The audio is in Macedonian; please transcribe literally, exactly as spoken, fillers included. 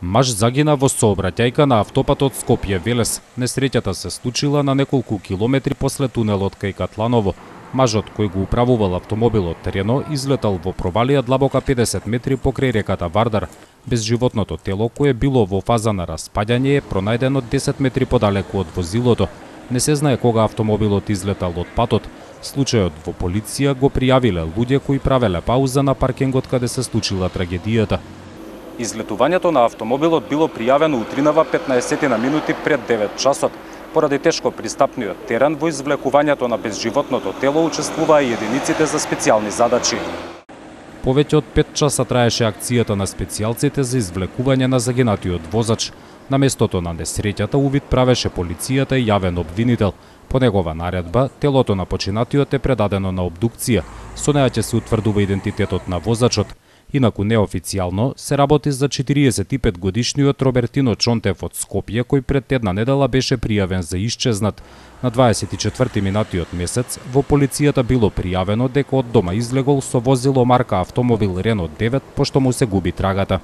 Маж загина во сообраќајка на автопатот Скопје-Велес. Несреќата се случила на неколку километри после тунелот кај Катланово. Мажот кој го управувал автомобилот Рено излетал во провалија длабока педесет метри покрај реката Вардар. Безживотното тело кое било во фаза на распаѓање е пронајдено десет метри подалеку од возилото. Не се знае кога автомобилот излетал од патот. Случајот во полиција го пријавиле луѓе кои правеле пауза на паркингот каде се случила трагедијата. Излетувањето на автомобилот било пријавено утринава петнаесет на минути пред девет часот. Поради тешко пристапниот терен во извлекувањето на безживотното тело учествуваа и единиците за специјални задачи. Повеќе од пет часа траеше акцијата на специјалците за извлекување на загинатиот возач. На местото на несреќата увид правеше полицијата и јавен обвинител. По негова наредба, телото на починатиот е предадено на обдукција. Со неа ќе се утврдува идентитетот на возачот. Инаку неофицијално се работи за четириесет и пет годишниот Робертино Чонтев од Скопје, кој пред една недела беше пријавен за исчезнат. На дваесет и четврти минатиот месец во полицијата било пријавено дека од дома излегол со возило марка автомобил Рено девет, пошто му се губи трагата.